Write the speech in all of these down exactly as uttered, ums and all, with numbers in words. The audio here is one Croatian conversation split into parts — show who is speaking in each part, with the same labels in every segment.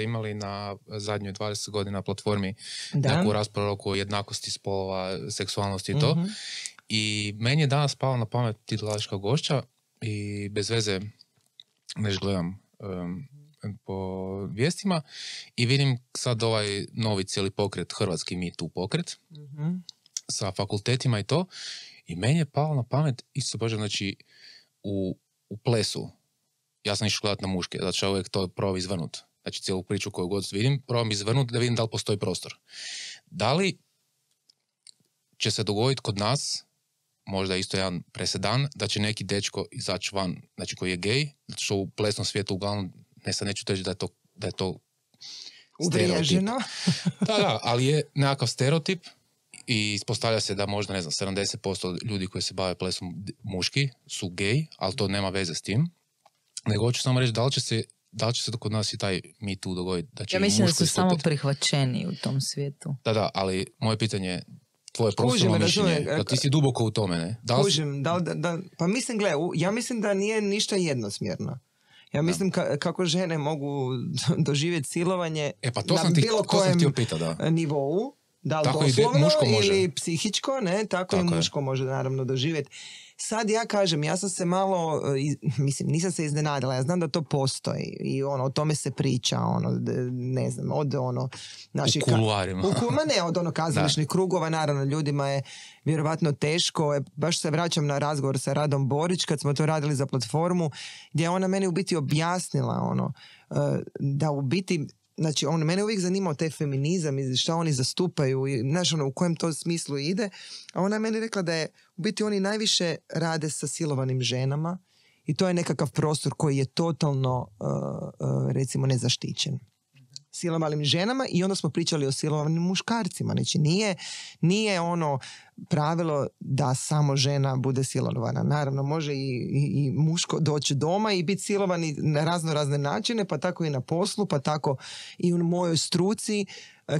Speaker 1: ste imali na zadnjoj dvadeset godina platformi
Speaker 2: da.
Speaker 1: neku raspravu oko jednakosti spolova, seksualnosti i to.
Speaker 2: Mm-hmm.
Speaker 1: I meni je danas palo na pamet ti dolaziš kao gošća i bez veze neš gledam um, po vijestima i vidim sad ovaj novi cijeli pokret, hrvatski Me Too pokret,
Speaker 2: mm-hmm.
Speaker 1: sa fakultetima i to. I meni je palo na pamet, isto bože, znači u, u plesu, ja sam išao gledat na muške, zato što uvijek to probam izvrnut. Znači cijelu priču koju god vidim, probam izvrnut da vidim da li postoji prostor. Da li će se dogoditi kod nas, možda isto jedan presedan, da će neki dečko izaći van, znači koji je gej, zato što u plesnom svijetu uglavnom, ne sad neću teći da je to, da je to stereotip. da, da, ali je nekakav stereotip i ispostavlja se da možda, ne znam, sedamdeset posto ljudi koji se bave plesom muški su gej, ali to nema veze s tim. Nego hoću samo reći da li će se, da li će se kod nas i taj Me Too dogoditi. Da će
Speaker 3: ja mislim da su
Speaker 1: istupiti.
Speaker 3: samo prihvaćeni u tom svijetu.
Speaker 1: Da, da, ali moje pitanje je tvoje profesionalno mišljenje, da ti si duboko u tome, ne? Da li...
Speaker 2: Kužim, da, da, da, pa mislim, gle, ja mislim da nije ništa jednosmjerno. Ja mislim ka, kako žene mogu doživjeti silovanje
Speaker 1: e, pa to
Speaker 2: na
Speaker 1: sam ti,
Speaker 2: bilo
Speaker 1: to
Speaker 2: kojem
Speaker 1: sam pita, da.
Speaker 2: nivou, da li
Speaker 1: tako
Speaker 2: doslovno
Speaker 1: ide,
Speaker 2: ili psihičko, ne, tako, tako i muško je. Može naravno doživjeti. Sad ja kažem, ja sam se malo, mislim, nisam se iznenadila, ja znam da to postoji i ono, o tome se priča, ono, ne znam, od ono... Naši,
Speaker 1: u kuluarima.
Speaker 2: U kulma ne, od ono kazališnih krugova, naravno, ljudima je vjerovatno teško, baš se vraćam na razgovor sa Radom Borić, kad smo to radili za platformu, gdje je ona meni u biti objasnila, ono, da u biti... Znači, on, mene uvijek zanimao taj feminizam i šta oni zastupaju i znaš, ono, u kojem to smislu ide. A ona je meni rekla da je, u biti oni najviše rade sa silovanim ženama i to je nekakav prostor koji je totalno, uh, uh, recimo, nezaštićen. Silovanim ženama i onda smo pričali o silovanim muškarcima. Znači, nije, nije ono pravilo da samo žena bude silovana. Naravno, može i, i, i muško doći doma i biti silovani na razno razne načine, pa tako i na poslu, pa tako i u mojoj struci.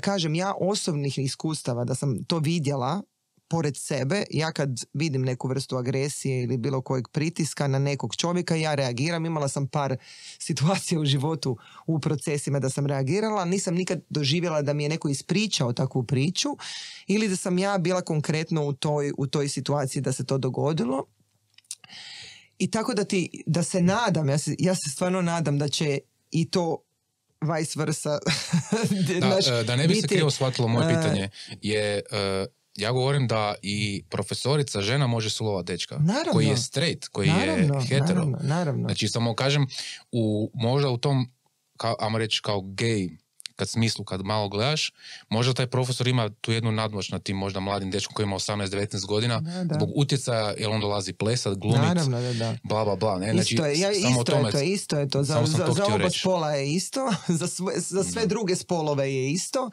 Speaker 2: Kažem, ja osobnih iskustava da sam to vidjela pored sebe, ja kad vidim neku vrstu agresije ili bilo kojeg pritiska na nekog čovjeka, ja reagiram. Imala sam par situacija u životu u procesima da sam reagirala, nisam nikad doživjela da mi je neko ispričao takvu priču ili da sam ja bila konkretno u toj, u toj situaciji da se to dogodilo. I tako da, ti, da se nadam, ja se, ja se stvarno nadam da će i to vice versa.
Speaker 1: da,
Speaker 2: naš,
Speaker 1: da ne bi
Speaker 2: biti,
Speaker 1: se krivo shvatilo moje pitanje je... Uh, ja govorim da i profesorica žena može silovati dečka.
Speaker 2: Naravno.
Speaker 1: Koji je straight, koji
Speaker 2: naravno,
Speaker 1: je hetero.
Speaker 2: Naravno, naravno.
Speaker 1: Znači, samo kažem, u, možda u tom, kao, ajmo reći, kao gej, kad smislu, kad malo gledaš, možda taj profesor ima tu jednu nadmoć nad tim možda mladim dečkom koji ima osamnaest devetnaest godina, da, da. Zbog utjecaja, jer on dolazi plesat, glumit,
Speaker 2: naravno, da, da.
Speaker 1: bla, bla, bla. Ne? Znači,
Speaker 2: isto je, ja, isto
Speaker 1: tome,
Speaker 2: je to, isto je to. Za, za, za oba
Speaker 1: reći.
Speaker 2: spola je isto, za sve, za sve druge spolove je isto.